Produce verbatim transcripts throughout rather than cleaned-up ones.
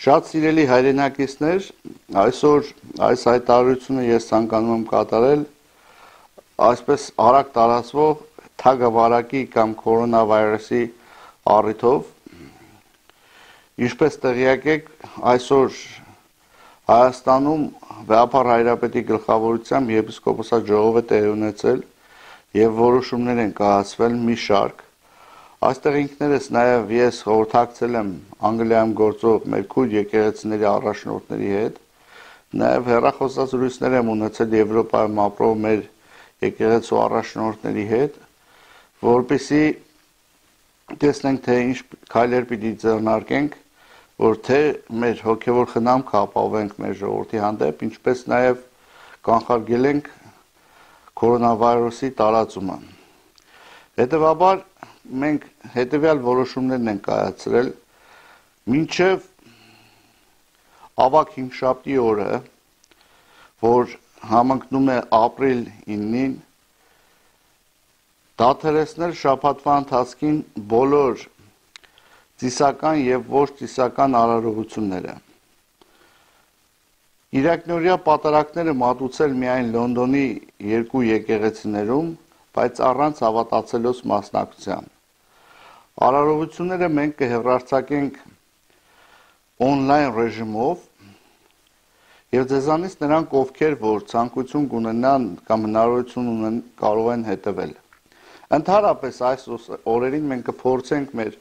Շատ սիրելի հայրենակիցներ, այսօր այս հայտարարությունը ես ցանկանում եմ կատարել այսպես արագ տարածվող թագավարակի կամ կորոնավիրուսի առիթով։ Ինչպես տեղյակ եք, այսօր Հայաստանում Վեհապար Հայրապետի գլխավորությամբ եպիսկոպոսատ ժողով է տեղի ունեցել եւ որոշումներ են կայացվել մի շարք։ Այստեղ ինքներս նաև ես խորհրդակցել եմ Անգլիայում գործող մեր քույր եկեղեցիների առաջնորդների հետ, նաև հեռախոսազրույցներ եմ ունեցել Եվրոպայում ապրող մեր եկեղեցու առաջնորդների հետ, որպեսզի տեսնենք, թե ինչ քայլեր պիտի ձեռնարկենք, որ թե մեր հոգևոր խնամքը ապահովենք մեր ժողովրդի հանդեպ, ինչպես նաև կանխարգելենք կորոնավիրուսի տարածումը։ Հետևաբար մենք հետևյալ որոշումներն են կայացրել մինչև ավագ հինգշաբթի օրը, որ համընկնում է ապրիլ իննին, դադարեցնել շաբաթվա ընթացքին բոլոր ծիսական եւ ոչ ծիսական արարողությունները։ Իրակնորյա պատարակները մատուցել միայն Լոնդոնի երկու եկեղեցիներում, բայց առանց հավատացելոց մասնակցության։ Արարողությունները մենք կհեռարձակենք on-line ռեժիմով եւ ձեզանից նրանք, ովքեր որ ցանկություն կունենան կամ հնարավորություն ունեն, կարող են հետևել։ Ընդհանրապես այս օրերին մենք կփորձենք մեր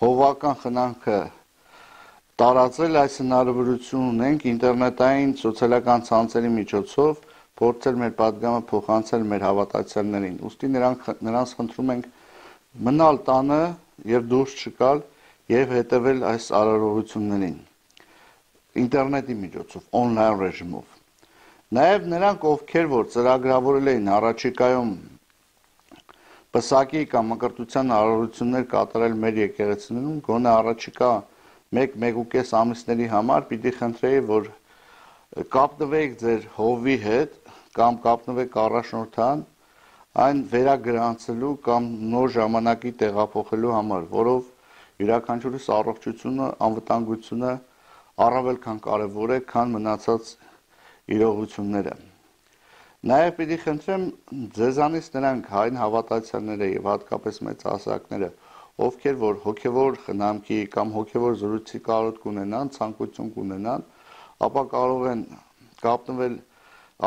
հովվական խնամքը տարածել, այս հնարավորություն ունենք ինտերնետային սոցիալական ցանցերի միջոցով փորձել մեր պատգամը փոխանցել մեր հավատացյալներին։ Ուստի նրանք նրանց խնդրում ենք մնալ տանը եւ դուրս չգալ եւ հետեւել այս արարողություններին ինտերնետի միջոցով, on-line ռեժիմով։ Նաեւ նրանք, ովքեր որ ծրագրավորել էին առաջիկայում պսակի կամ մկրտության արարողություններ կատարել մեր եկեղեցիներում, գոնե առաջիկա մեկ-մեկուկես ամիսների համար պիտի խնդրեի, որ կապնվեք ձեր հովվի հետ կամ կապնվեք առաջնորդան այն վերագրանցելու կամ նոր ժամանակի տեղափոխելու համար, որով յուրաքանչյուրիս առողջությունը, անվտանգությունը առավել քան կարևոր է, քան մնացած իրողությունները։ Նաև պիտի խնդրեմ ձեզանից նրանք հայն հավատացյալները եւ հատկապես մեծահասակները, ովքեր որ հոգևոր խնամքի կամ հոգևոր զրույցի կարոտ կունենան, ցանկություն կունենան, ապա կարող են կապնվել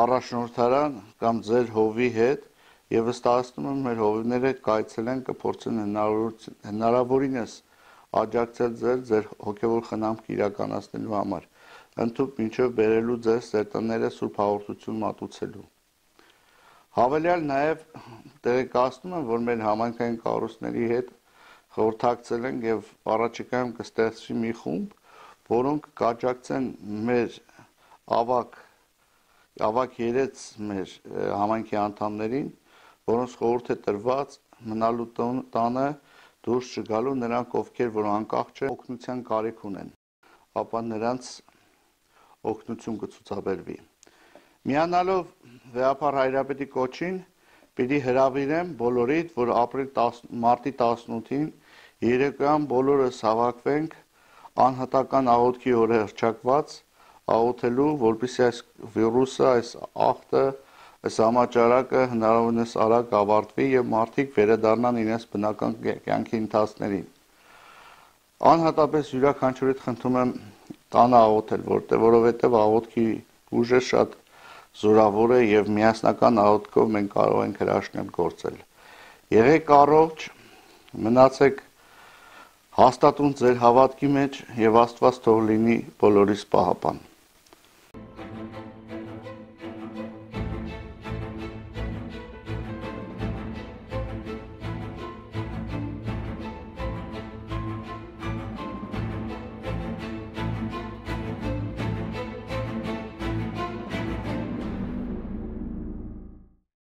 առաջնորդարան կամ ձեր հովի հետ եւ վստահեցնում եմ մեր հովիվները կայցելեն, կփորձեն հնարավորինս աջակցել ձեր ձեր հոգևոր խնամքը իրականացնելու համար, ընդհանուր մինչև բերելու ձեզ ձեր տները սուրբ հաղորդություն մատուցելու։ Հավելյալ նաև տեղեկացնում եմ, որ մեր համայնքային կառույցների հետ խորհրդակցել ենք եւ առաջիկայում կստեղծվի մի խումբ, որոնք կաջակցեն մեր ավակ ավակ երեց մեր համայնքի անդամներին, որոնց խորհուրդ է տրված մնալու տանը դուրս չգալու, նրանք ովքեր որ անկախ չեն օգնության կարիք ունեն, ապա նրանց օգնություն կցուցաբերվի։ Միանալով Վեհապար Հայրապետի կոչին, պիտի հրավիրեմ բոլորիդ, որ ապրիլ մարտի տասնութին երեկոյան բոլորս հավաքվենք անհատական աղոթքի օրը հռչակված աղոթելու, որպեսզի այս վիրուսը, այս աղտը, այս համաճարակը հնարավորինս արագ ավարտվի եւ մարդիկ վերադառնան իրենց բնական կյանքի ընթացքներին։ Անհատապես յուրաքանչյուրիդ խնդրում եմ տանը աղոթել, որտեղ որովհետեւ աղոթքի ուժը շատ զորավոր է եւ միասնական աղոթքով մենք կարող ենք հրաշքներ գործել։ Եղեք առողջ, մնացեք հաստատուն ձեր հավատքի մեջ եւ Աստված թող լինի բոլորիս պահապան։